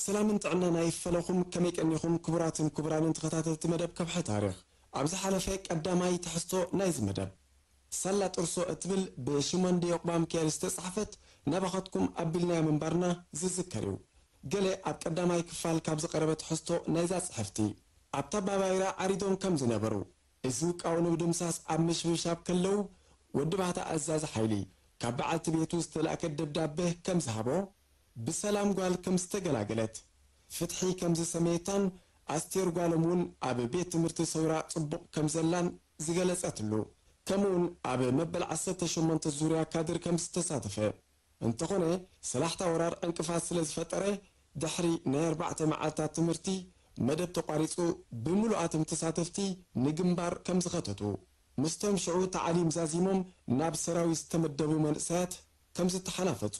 ሰላምን ጥዕናን ኣይፈለኹም፣ ከመይ ቀኒኹም ክቡራትን ክቡራንን ተኸታተልቲ መደብ ከብሒ ታሪኽ? ኣብ ዝሓለፈ ቀዳማይ ትሕዝቶ ናይዚ መደብ፣ ሳላ ጥርሶ እትብል ብሽሞንዲ ዮቕባ ሚካኤል ዝተጻሕፈት ናባኻትኩም ኣቢልናያ ምንባርና ዝዝከር እዩ። ገለ ኣብ ቀዳማይ ክፋል ካብ ዝቐረበ ትሕዝቶ ናይዛ ጽሕፍቲ፣ ኣብታ ባባይራ ዓሪዶም ከም ዝነበሩ፣ እዚ ውቃዊ ንምድምሳስ ኣብ ምሽብሻብ ከለዉ፣ ወዲ ባህታ ኣዛዚ ሓይሊ ካብ በዓልቲ ቤቱ ዝተላእከ ደብዳበ ከም ዝሃቦ፣ ብሰላም ጓል ከም ዝተገላገለት፣ ፍትሒ ከም ዝሰመየታን ኣስቴር ጓሎም እውን ኣብ ቤት ትምህርቲ ሰውራ ጽቡቕ ከም ዘላን ዝገለጸትሉ፣ ከምኡውን ኣብ መበል ዓሰርተ ሸሞንተ ዙርያ ካድር ከም ዝተሳተፈ፣ እንተኾነ፣ ሰላሕታ ወራር ዕንቅፋት ስለ ዝፈጠረ፣ ድሕሪ ናይ ኣርባዕተ መዓልታት ትምህርቲ፣ መደብ ተቋሪጹ፣ ብምሉኣቶም ተሳተፍቲ ንግንባር ከም ዝኸተቱ፣ ምስቶም ሽዑ ታዕሊም ዛዚሞም ናብ ሰራዊት ዝተመደቡ መንእሰያት ከም ዝተሓናፈጹ፣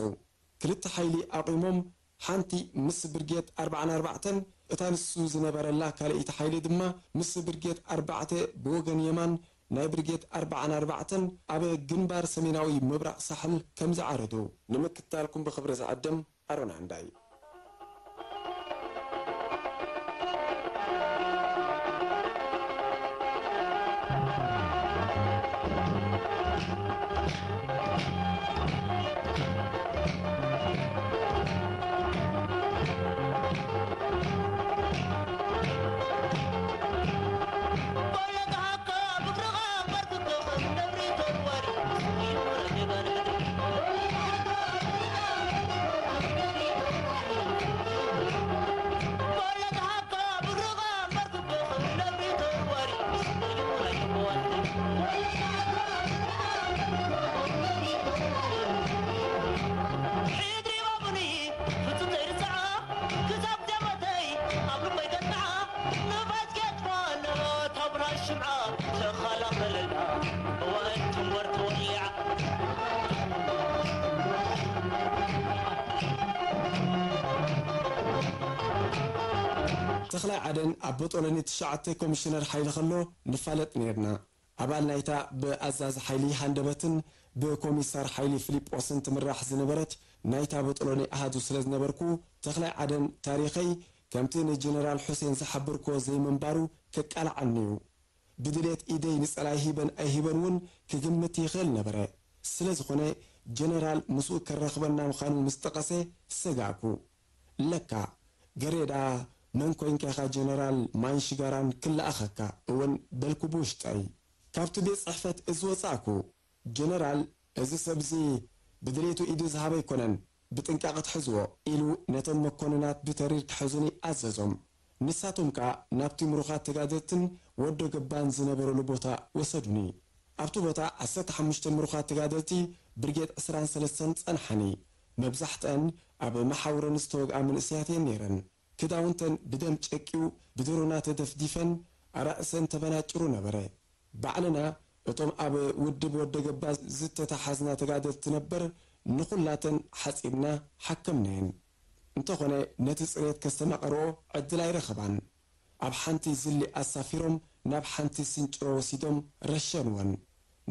ክልተ ሓይሊ ኣቑሞም፣ ሓንቲ ምስ ብርጌድ ኣርባዓን ኣርባዕተን፣ እታ ንሱ ዝነበረላ ካልኣይቲ ሓይሊ ድማ ምስ ብርጌድ ኣርባዕተ ብወገን የማን ናይ ብርጌድ ኣርባዓን ኣርባዕተን ኣብ ግንባር ሰሜናዊ ምብራቕ ሳሕል ከም ዝዓረዱ ንምክትታልኩም ብኽብሪ ዝዕድም ኣሮን ዓንዳይ። ተኽላይ ዓደን ኣብ ቦጦሎኒ ትሽዓተ ኮሚሽነር ሓይሊ ከሎ ንፋለጥ ነይርና። ኣባል ናይታ ብኣዛዚ ሓይሊ ሃንደበትን ብኮሚሳር ሓይሊ ፊሊጶስን ትምራሕ ዝነበረት ናይታ ቦጦሎኒ ኣሃዱ ስለ ዝነበርኩ፣ ተኽላይ ዓደን ታሪኸይ ከምቲ ንጀነራል ሑሴን ዝሓበርኩዎ ዘይምንባሩ ከቃልዓኒ እዩ። ብድሌት ኢደይ ንጸላይ ሂበን ኣይሂበን እውን ክግምት ይኽእል ነበረ። ስለ ዝኾነ፣ ጀነራል ምስኡ ከራኽበና ምዃኑ ምስ ጠቐሰ ሰጋእኩ። ለካ፣ ገሬዳ መን ኮይንካ ኢኻ ጀነራል ማንሽጋራን ክለኣኸካ እውን በልኩ ብውሽጠይ። ካብቲ ቤት ጽሕፈት እዚ ወጻእኩ። ጀነራል፣ እዚ ሰብዚ ብድሌቱ ኢዱ ዝሃበ ኣይኮነን፣ ብጥንቃቐ ትሕዝዎ፣ ኢሉ ነቶም መኮንናት ብተሪር ክሕዙኒ ኣዘዞም። ንሳቶም ከኣ ናብቲ ምሩኻት ተጋደልትን ወዶ ገባን ዝነበሩሉ ቦታ ወሰዱኒ። ኣብቲ ቦታ ዓሰርተ ሓሙሽተ ምሩኻት ተጋደልቲ ብርጌድ ዕስራን ሰለስተን ጸንሓኒ። መብዛሕትአን ኣብ መሓውረን ዝተወግኣ መንእሰያት እየን ነይረን። ክዳውንተን ብደም ጨቂው ብድሮና ተደፍዲፈን ኣራእሰን ተበናጭሩ ነበረ። ባዕልና እቶም ኣብ ውድብ ወደገባ ዝተታሓዝና ተጋደልቲ ነበር ንኹላተን ሓጺብና ሓከምናየን። እንተኾነ ነቲ ጽሬት ከስተማቐርኦ ዕድል ኣይረኸባን። ኣብ ሓንቲ ዝሊ ኣሳፊሮም ናብ ሓንቲ ስንጭሮ ወሲዶም ረሸንወን።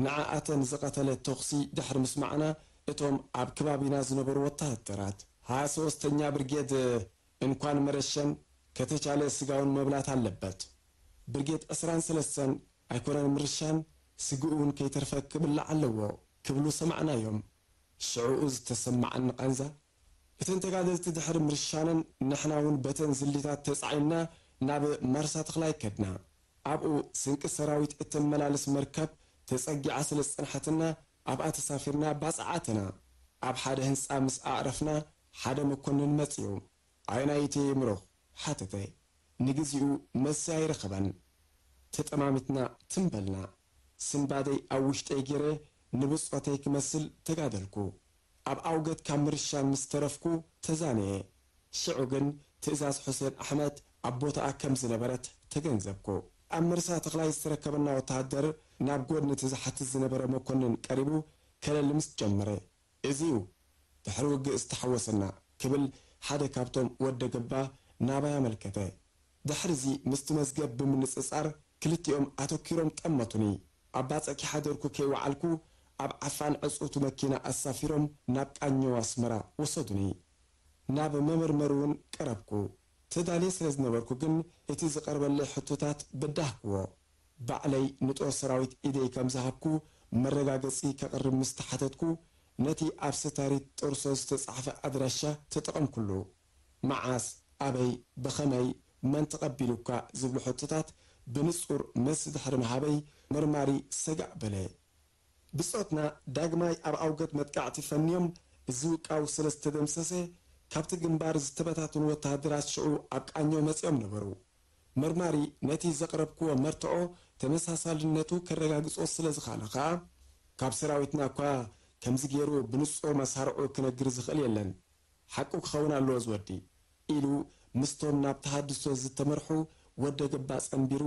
ንዓኣተን ዝቐተለ ተኹሲ ድሕሪ ምስማዕና እቶም ኣብ ከባቢና ዝነበሩ ወታሃደራት፣ ሃያ ሶስተኛ ብርጌድ እንኳን መረሸን ከተቻለ ስጋውን መብላት ኣለበት። ብርጌድ ዕስራን ሰለስተን ኣይኮነን ምርሻን ስግኡ እውን ከይተርፈ ክብላዕ ኣለዎ ክብሉ ሰማዕናዮም። ሽዕኡ ዝተሰማዓኒ ቃንዛ፣ እተን ተጋደልቲ ድሕሪ ምርሻነን ንሕና እውን በተን ዝሊታት ተጻዒንና ናብ ማርሳ ተኽላይ ከድና። ኣብኡ ስንቂ ሰራዊት እተመላልስ መርከብ ተጸጊዓ ስለ ዝጸንሐትና ኣብኣ ተሳፊርና ባጽዕ ኣተና። ኣብ ሓደ ህንጻ ምስ ኣዕረፍና ሓደ መኮንን መጺኡ። ኣየናይቲ ምሩኽ? ሓተተ። ንግዚኡ መልሲ ኣይረኸበን። ተጠማሚትና ትም በልና። ስንባደይ ኣብ ውሽጠይ ገይረ ንብጾተይ ክመስል ተጋደልኩ። ኣብ ኣውገት ካብ ምርሻን ምስ ተረፍኩ ተዛነየ። ሽዑ ግን ትእዛዝ ሑሴን ኣሕመድ ኣብ ቦታኣ ከም ዝነበረት ተገንዘብኩ። ኣብ መርሳ ተኽላይ ዝተረከበና ወተሃደር ናብ ጎድኒ እቲ ዝሓትት ዝነበረ መኮንን ቀሪቡ ከለሊ ምስ ጀመረ፣ እዚ እዩ ድሕሪ ውግእ ዝተሓወሰና ክብል ሓደ ካብቶም ወደ ገባ ናባይ ኣመልከተ። ድሕርዚ ምስቲ መዝገብ ብምንጽጻር ክልቲኦም ኣተኲሮም ጠመቱኒ። ኣብ ባጽዕ ከይሓደርኩ ከይወዓልኩ ኣብ ዓፋን ዕጽውቲ መኪና ኣሳፊሮም ናብ ቃኘው ኣስመራ ወሰዱኒ። ናብ መመርመሪ እውን ቀረብኩ። ተዳልየ ስለ ዝነበርኩ ግን እቲ ዝቐርበለይ ሕቶታት በዳህክዎ። ባዕለይ ንጦር ሰራዊት ኢደይ ከም ዝሃብኩ መረጋገጺ ከቕርብ ምስ ተሓተትኩ፣ ነቲ ኣብ ስታሪት ጦርሶ ዝተጻሕፈ ኣድራሻ ተጠቐምኩሉ። መዓስ፣ ኣበይ፣ ብኸመይ፣ መን ተቐቢሉካ ዝብሉ ሕቶታት ብንጹር መልሲ ድሕሪ ምሃበይ፣ መርማሪ ሰጋእ በለ። ብጾትና ዳግማይ ኣብ ኣውገት መጥቃዕቲ ፈንዮም፣ እዚ ውቃው ስለ ዝተደምሰሰ፣ ካብቲ ግንባር ዝተበታተኑ ወተሃደራት ሽዑ ኣብ ቃኘው መጺኦም ነበሩ። መርማሪ ነቲ ዘቕረብክዎ መርትዖ ተመሳሳልነቱ ከረጋግጾ ስለ ዝኸኣለ ኸኣ፣ ካብ ሰራዊትና እኳ ከምዚ ገይሩ ብንጹር መሳርዑ ክነግር ዝኽእል የለን። ሓቁ ክኸውን ኣለዎ ዝወዲ፣ ኢሉ ምስቶም ናብ ተሃድሶ ዝተመርሑ ወደ ገባ ጸንቢሩ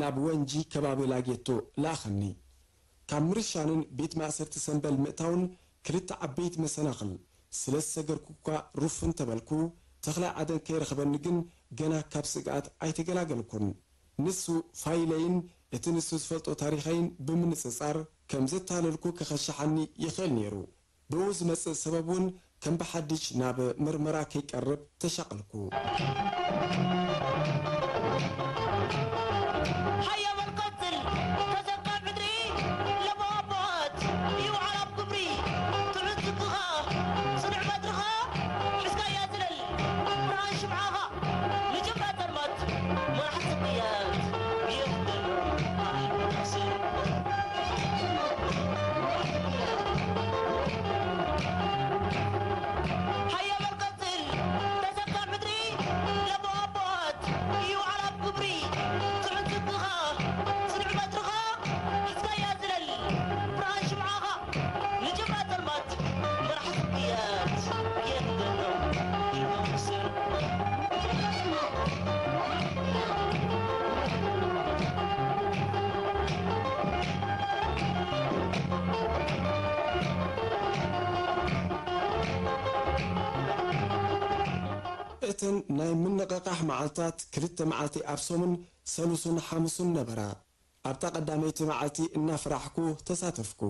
ናብ ወንጂ ከባቢ ላጌቶ ለኣኸኒ። ካብ ምርሻንን ቤት ማእሰርቲ ሰምበል ምእታውን ክልተ ዓበይቲ መሰናኽል ስለ ዝሰገርኩ እኳ ሩፍን ተበልኩ፣ ተኽላይ ዓደን ከይረኽበኒ ግን ገና ካብ ስግኣት ኣይተገላገልኩን። ንሱ ፋይለይን እቲ ንሱ ዝፈልጦ ታሪኸይን ብምንጽጻር ከም ዘታለልኩ ከኸሽሓኒ ይኽእል ነይሩ። ብኡ ዝመጽእ ሰበብ እውን ከም ብሓድሽ ናብ መርመራ ከይቀርብ ተሻቐልኩ። ሃያ በል ቀጽል፣ ተዘካ ምድሪ ለቦ ኣቦት ይውዓል ኣብ ግብሪ። ትሑት ዝግኻ ጽኑዕ በትርኻ ሒዝካያ ዝለል። ብርሃን ሽምዓኻ ንጀብራ ጸልማት መራሕቲ ቅያት የኽብር። ሃያ በል ቀጽል፣ ተዘካ ምድሪ ለቦ ኣቦት ይውዓል ኣብ ግብሪ። ጽኑዕ ዝግኻ ጽኑዕ በትርኻ ሒዝካያ ዝለል። ብርሃን ሽምዓኻ ንጀብራ ጸልማት መራሕቲ ቅያት የኽብር። እተን ናይ ምንቕቓሕ መዓልታት ክልተ መዓልቲ ኣብ ሰሙን፣ ሰሉስን ሓሙስን ነበራ። ኣብታ ቀዳመይቲ መዓልቲ እናፈራሕኩ ተሳተፍኩ።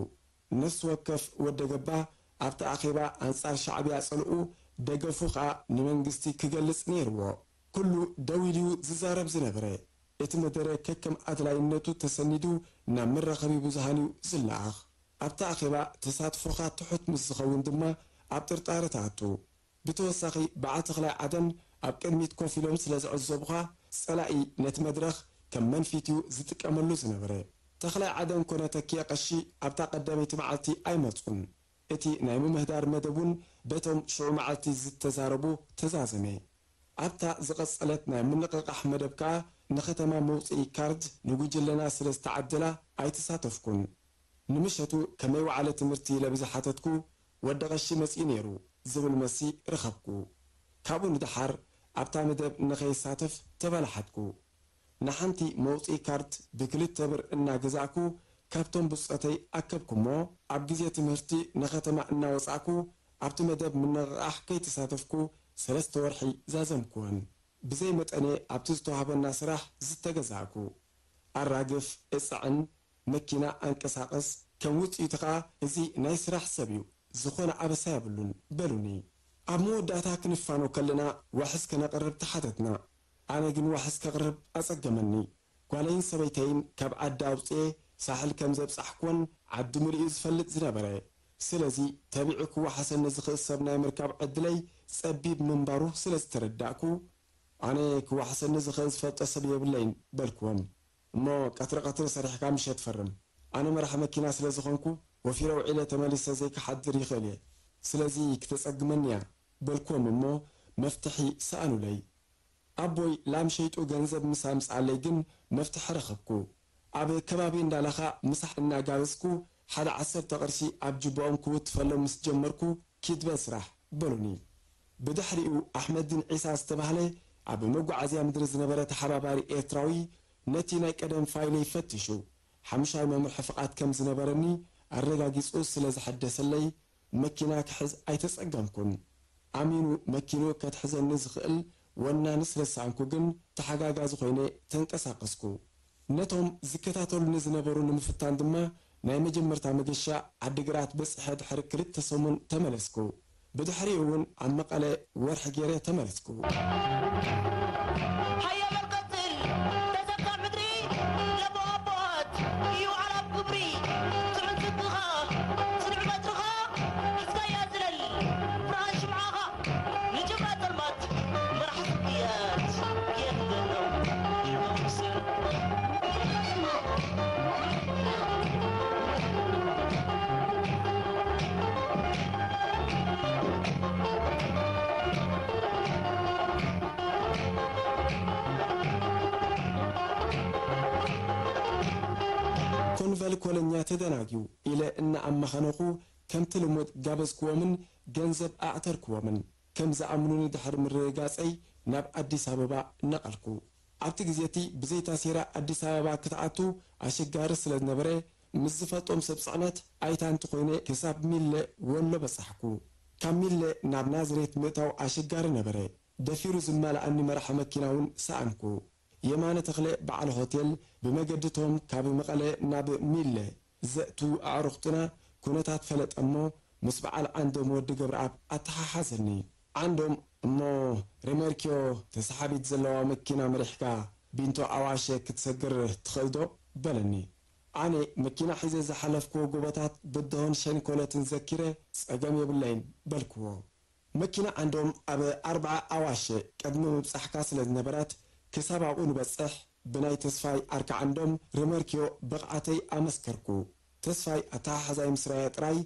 ነፍሲ ወከፍ ወደ ገባ ኣብቲ ኣኼባ ኣንጻር ሻዕብያ ጸልኡ፣ ደገፉ ኸኣ ንመንግስቲ ክገልጽ ነይርዎ። ኩሉ ደው ኢሉ'ዩ ዝዛረብ ዝነበረ። እቲ መደረ ከከም ኣድላይነቱ ተሰኒዱ ናብ መራኸቢ ብዙሃን'ዩ ዝለኣኽ። ኣብቲ ኣኼባ ተሳትፎኻ ትሑት ምስ ዝኸውን ድማ ኣብ ጥርጣረ ትኣቱ። ብተወሳኺ፣ በዓል ተኽላይ ዓደን ኣብ ቅድሚት ኮፍ ኢሎም ስለ ዝዕዘቡኻ፣ ጸላኢ ነቲ መድረኽ ከም መንፊት'ዩ ዝጥቀመሉ ዝነበረ። ተኽላይ ዓደን ኮነ ተኪኤ ቀሺ ኣብታ ቀዳመይቲ መዓልቲ ኣይመጹን። እቲ ናይ ምምህዳር መደብ እውን በቶም ሽዑ መዓልቲ ዝተዛረቡ ተዛዘመ። ኣብታ ዝቐጸለት ናይ ምንቕቓሕ መደብ ከኣ ንከተማ መውጽኢ ካርድ ንጉጅለና ስለ ዝተዓደላ ኣይተሳተፍኩን። ንምሸቱ ከመይ ወዓለ ትምህርቲ ኢለ ብዝሓተትኩ፣ "ወዲ ቀሺ መጺኡ ነይሩ" ዝብል መልሲ ረኸብኩ። ካብኡ ንደሓር ኣብታ መደብ ንኸይሳተፍ ተባላሓትኩ። ንሓንቲ መውጽኢ ካርድ ብክልተ ብር እናገዛእኩ ካብቶም ብጾተይ ኣከብኩ እሞ፣ ኣብ ግዜ ትምህርቲ ንኸተማ እናወጻእኩ ኣብቲ መደብ ምንቕቓሕ ከይተሳተፍኩ ሰለስተ ወርሒ ዛዘምኩወን። ብዘይ መጠነ ኣብቲ ዝተዋህበና ስራሕ ዝተገዛእኩ። ኣራግፍ፣ እጽዕን፣ መኪና ኣንቀሳቕስ፣ ከም ውጽኢቱ ኸኣ እዚ ናይ ስራሕ ሰብ እዩ፣ ዝኾነ ኣበሳ የብሉን በሉኒ። ኣብ መወዳእታ ክንፋኖ ከለና ዋሕስ ከነቕርብ ተሓተትና። ኣነ ግን ዋሕስ ከቕርብ ኣጸገመኒ። ጓለይን ሰበይተይን ካብ ዓዲ ኣውጽኤ ሳሕል ከም ዘብጻሕኩወን ዓዲ ምሉእ እዩ ዝፈልጥ ዝነበረ። ስለዚ ተቢዑ ክወሓሰኒ ዝኽእል ሰብ ናይ ምርካብ ዕድለይ ጸቢብ ምንባሩ ስለ ዝተረዳእኩ፣ ኣነ ክወሓሰኒ ዝኽእል ዝፈልጦ ሰብ የብለይን በልኩዎም። እሞ ቀትሪ ቀትሪ ሰሪሕካ ምሸት ፈርም። ኣነ መራሒ መኪና ስለ ዝኾንኩ ወፊረ ውዒለ ተመሊሰ ዘይክሓድር ይኽእል እየ። ስለዚ ክተጸግመኒ እያ በልኩዎም እሞ መፍትሒ ሰኣኑለይ። ኣቦይ ላም ሸይጡ ገንዘብ ምስ ኣምጽኣለይ ግን መፍትሒ ረኸብኩ። ኣብ ከባቢ እንዳላኻ ምሳሕ እናጋበዝኩ ሓደ ዓሰርተ ቅርሺ ኣብ ጅባኦም ክውትፈሎም ምስ ጀመርኩ ኪድ በል ስራሕ በሉኒ። ብድሕሪኡ ኣሕመዲን ዒሳ ዝተባህለ ኣብ መጓዓዝያ ምድሪ ዝነበረ ተሓባባሪ ኤርትራዊ ነቲ ናይ ቀደም ፋይለይ ፈቲሹ ሓሙሻይ መምርሒ ፍቓድ ከም ዝነበረኒ ኣረጋጊጹ ስለ ዘሐደሰለይ መኪና ክሕዝ ኣይተጸገምኩን። ኣሚኑ መኪኑ ከትሕዘኒ ዝኽእል ወናኒ ስለ ዝሰኣንኩ ግን ተሓጋጋዚ ኮይነ ተንቀሳቐስኩ። ነቶም ዝከታተሉኒ ዝነበሩ ንምፍታን ድማ ናይ መጀመርታ መገሻ ዓዲግራት በጺሐ ድሕሪ ክልተ ሰሙን ተመለስኩ። ብድሕሪኡ እውን ኣብ መቐለ ወርሒ ገይረ ተመለስኩ። ሃየ በል ቀጽል፣ ተዘካ ምድሪ ለቦ ኣቦት እዩ ዓላብ ክብሪ። ጽዑን ስንቅኻ፣ ጽኑዕ በትርኻ፣ ሒዝካያ ዝለል ብርሃን ሽምዓኻ። ንጅምላ ጸልማት መራሕ ስቅያት የንገረው። ኮንቨል ኮለኛ ተደናጊው ኢለ እናኣማኸነኹ ከምቲ ልሙድ ጋበዝክዎምን ገንዘብ ኣዕተርክዎምን። ከም ዝኣምኑኒ ድሕሪ ምርግጋጸይ ናብ ኣዲስ ኣበባ ነቐልኩ። ኣብቲ ግዜ እቲ ብዘይ ታሴራ ኣዲስ ኣበባ ክትኣቱ ኣሸጋሪ ስለ ዝነበረ፣ ምስ ዝፈልጦም ሰብ ጽዕነት ኣይታንቲ ኮይነ ክሳብ ሚለ ወሎ በጻሕኩ። ካብ ሚለ ናብ ናዝሬት ምእታው ኣሸጋሪ ነበረ። ደፊሩ ዝመልኣኒ መራሒ መኪና እውን ሰኣንኩ። የማነ ተኽለ በዓል ሆቴል፣ ብመገድቶም ካብ መቐለ ናብ ሚለ ዘእቱ ኣዕሩኽትና ኩነታት ፈለጠ እሞ፣ ምስ በዓል ዓንዶም ወዲ ገብረኣብ ኣተሓሓዘኒ። ዓንዶም፣ እሞ ሬመርኪዮ ተሰሓቢት ዘለዋ መኪና መሪሕካ ቢንቶ ኣዋሸ ክትሰግር ትኽእል ዶ? በለኒ። ኣነ መኪና ሒዘ ዝሓለፍክዎ ጎቦታት ብድሆን ሸንኮለትን ዘኪረ፣ ጸገም የብለይን በልክዎ። መኪና ዓንዶም ኣብ ኣርብዓ ኣዋሸ ቅድሚ ምብጻሕካ ስለ ዝነበረት፣ ክሳብ ኣብኡ ንበጽሕ ብናይ ተስፋይ ዓርኪ ዓንዶም ሬመርኪዮ ብቕዓተይ ኣመስከርኩ። ተስፋይ ኣተሓሕዛይ ምስ ረኣየ ጥራይ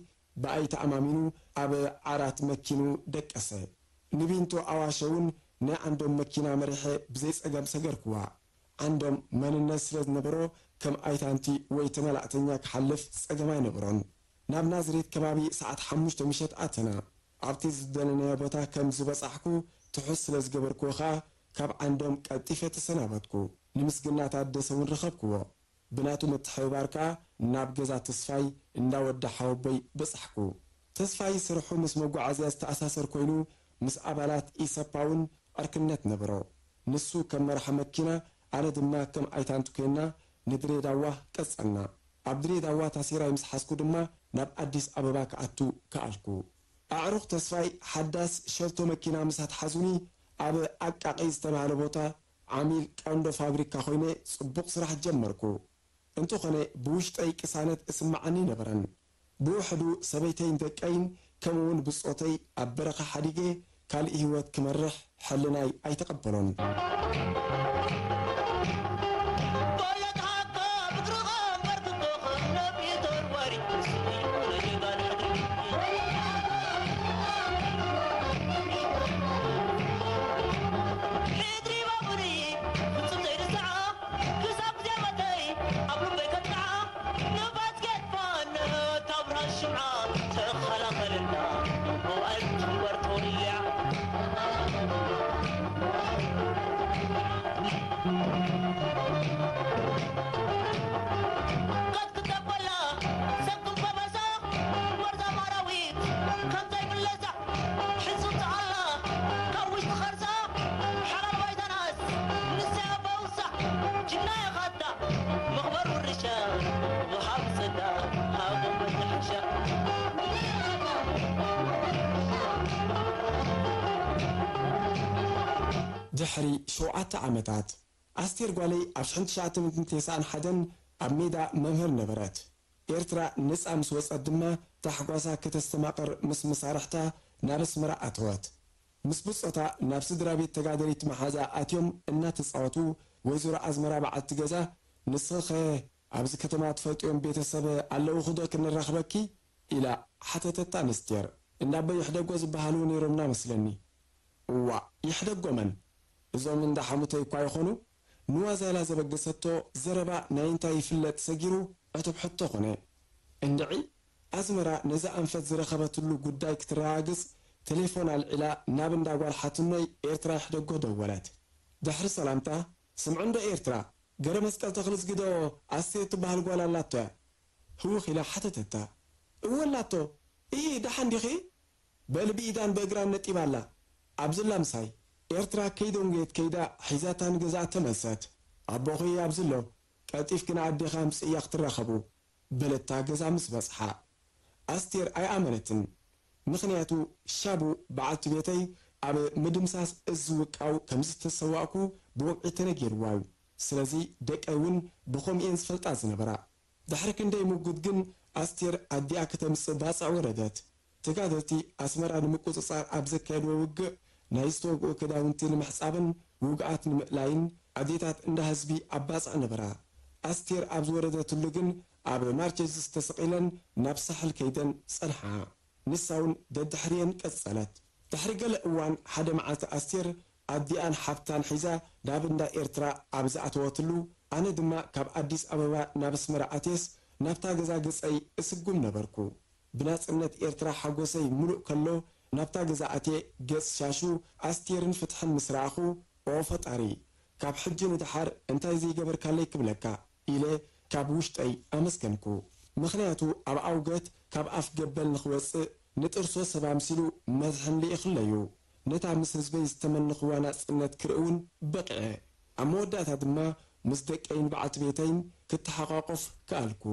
ብኣይ ተኣማሚኑ ኣብ ዓራት መኪኑ ደቀሰ። ንቢንቶ ኣዋሸ እውን ናይ ዓንዶም መኪና መሪሐ ብዘይ ጸገም ሰገርክዋ። ዓንዶም መንነት ስለ ዝነበሮ ከም ኣይታንቲ ወይ ተመላእተኛ ክሓልፍ ጸገም ኣይነበሮን። ናብ ናዝሬት ከባቢ ሰዓት ሓሙሽተ ምሸት ኣተና። ኣብቲ ዝደለናዮ ቦታ ከም ዝበጻሕኩ ትሑዝ ስለ ዝገበርክዎ ኸኣ ካብ ዓንዶም ቀልጢፈ ተሰናበትኩ። ንምስግና ታደሰ እውን ረኸብክዎ። ብናቱ ምትሕብባር ከኣ ናብ ገዛ ተስፋይ እንዳ ወዲ ሓወቦይ በጻሕኩ። ተስፋይ ስርሑ ምስ መጓዓዝያ ዝተኣሳሰር ኮይኑ ምስ ኣባላት ኢሰፓ እውን ዕርክነት ነበሮ። ንሱ ከም መራሒ መኪና፣ ኣነ ድማ ከም ኣይታንት ኮይና ንድሬዳዋ ቀጸልና። ኣብ ድሬዳዋ ታሴራይ ምስ ሓዝኩ ድማ ናብ ኣዲስ ኣበባ ክኣቱ ከኣልኩ። ኣዕሩኽ ተስፋይ ሓዳስ ሸርቶ መኪና ምስ ኣትሓዙኒ ኣብ ኣቃቂ ዝተባህለ ቦታ ዓሚል ቀንዶ ፋብሪካ ኮይነ ጽቡቕ ስራሕ ጀመርኩ። እንተኾነ ብውሽጠይ ቅሳነት እስመዓኒ ኣይነበረን። ብውሕዱ ሰበይተይን ደቀይን ከምኡውን ብጾተይ ኣብ በረኻ ሓዲገ ካልእ ህይወት ክመርሕ ሕልናይ ኣይተቐበሎን። ክሳብ ግዜ ሞተይ ኣብ ልበይ ከጥቅዓ፣ ንፋስ ከጥፍኣን፣ እታ ብርሃን ሽምዓ ተኸላኸልና፣ መዋእል ትንበር ተወልያ። ቀትክተበላ፣ ሰክም ከበሳ፣ መርዛም ኣራዊት፣ ከም ዘይምለሳ፣ ሕጹጽ ኣላ፣ ካብ ውሽጢ ኸርሳ፣ ሓላል ባይታናስ፣ ንሳ እያ ባውሳ፣ ጅግና ኢኻ ኣታ፣ መኽበር ውርሻ፣ ወሃብ ጸጋ፣ ሃቦ መተሐሻ። ድሕሪ ሸውዓተ ዓመታት፣ ኣስቴር ጓለይ ኣብ ሽሕን ትሽዓተ ሚእትን ተስዓን ሓደን ኣብ ሜዳ መምህር ነበረት። ኤርትራ ነጻ ምስ ወጸት ድማ ታሕጓሳ ከተስተማቕር ምስ መሳርሕታ ናብ ኣስመራ ኣተወት። ምስ ብጾታ ናብ ስድራ ቤት ተጋደሊት መሓዛ ኣትዮም እናተጻወቱ፣ ወይዘሮ ኣዝመራ በዓልቲ ገዛ፣ "ንስኺኸ ኣብዚ ከተማ ትፈልጥዮም ቤተሰብ ኣለውኺ ዶ ክንራኽበኪ?" ኢላ ሓተተታ ነስቴር። "እንዳ ኣቦይ ይሕደጎ ዝበሃሉ ነይሮምና መስለኒ?" "እዋእ፣ ይሕደጎ መን? እዞም እንዳ ሓሙተይ እኳ ይኾኑ?" ንዋዛ ኢላ ዘበገሰቶ ዘረባ ናይ እንታይ ይፍለጥ ሰጊሩ ዕቱብ ሕቶ ኾነ። እንድዒ፣ ኣዝመራ ነዛ ኣንፈት ዝረኸበትሉ ጉዳይ ክትረጋግጽ ቴሌፎን ኣልዒላ ናብ እንዳ ጓል ሓትኖይ ኤርትራ ይሕደጎ ደወለት። ድሕሪ ሰላምታ፣ "ስምዒ እንዶ ኤርትራ፣ ገረመስቀል ተኽልዝጊ ዶ ኣስቴር ትበሃል ጓል ኣላቶ እያ?" ህውኽ ኢላ ሓተተታ። "እወ ኣላቶ። እሂ፣ ደሓን ዲኺ?" "በሊ ብኢዳን ብእግራን ነጢባ ኣላ። ኣብዚላ ምሳይ፣ ኤርትራ ከይደንጎየት ከይዳ ሒዛታ ንገዛእ ተመልሰት። ኣቦኺ ኣብዚ ኣሎ፣ ቀልጢፍኪ ንኣዴኻ ኣምጽእያ ክትራኸቡ፣ በለታ ገዛ ምስ በጽሓ። ኣስቴር ኣይኣመነትን። ምኽንያቱ ሻቡ በዓልቲ ቤተይ ኣብ ምድምሳስ እዚ ውቃው ከም ዝተሰዋእኩ ብወግዒ ተነጊርዋ እዩ። ስለዚ ደቀይ እውን ብኸምኡ እየን ዝፈልጣ ዝነበራ። ድሕሪ ክንደይ ምጉት ግን ኣስቴር ኣዲኣ ከተምጽእ ባጽዕ ወረደት። ተጋደልቲ ኣስመራ ንምቁጽጻር ኣብ ዘካየድዎ ውግእ ናይ ዝተወግኡ ክዳውንቲ ንምሕጻብን ውጉኣት ንምእላይን ኣዴታት እንዳ ህዝቢ ኣብ ባጽዕ ነበራ። ኣስቴር ኣብ ዝወረደትሉ ግን ኣብ ማርቸዲስ ተሰቒለን ናብ ሳሕል ከይደን ጸንሓ። ንሳ እውን ደድሕሪየን ቀጸለት። ድሕሪ ገለ እዋን ሓደ መዓልቲ ኣስቴር ኣዲኣን ሓብታን ሒዛ ናብ እንዳ ኤርትራ ኣብ ዝኣተወትሉ፣ ኣነ ድማ ካብ ኣዲስ ኣበባ ናብ ኣስመራ ኣትየስ ናብታ ገዛ ገጸይ እስጉም ነበርኩ። ብናጽነት ኤርትራ ሓጎሰይ ምሉእ ከሎ ናብታ ገዛ ኣትየ ገጽ ሻሹ ኣስቴርን ፍትሕን ምስ ረኣኹ፣ ኦ ፈጣሪ፣ ካብ ሕጂ ንደሓር እንታይ ዘይገበርካለይ ክብለካ ኢለ ካብ ውሽጠይ ኣመስገንኩ። ምኽንያቱ ኣብ ኣውገት ካብ ኣፍ ገበል ንኽወጽእ ንጥርሶ ሰብ ኣምሲሉ መዝሕን ልኢኽለዩ። ነታ ምስ ህዝበይ ዝተመንኽዋ ናጽነት ክርኢ እውን በቒዐ። ኣብ መወዳእታ ድማ ምስ ደቀይን በዓልቲ ቤተይን ክተሓቋቆፍ ከኣልኩ።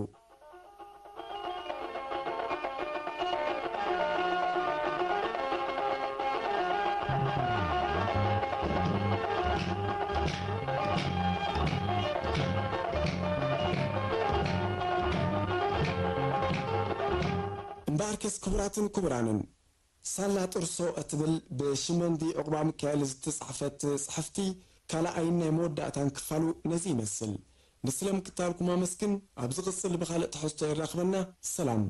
እምበኣርከስ ክቡራትን ክቡራንን፣ ሳላ ጥርሶ እትብል ብሽመንዲ ዑቕባ ሚካኤል ዝተጻሕፈት ጽሕፍቲ ካልኣይን ናይ መወዳእታን ክፋሉ ነዚ ይመስል። ንስለ ምክታልኩም ኣመስግን። ኣብ ዝቕጽል ብኻልእ ትሕዝቶ የራኽበና። ሰላም።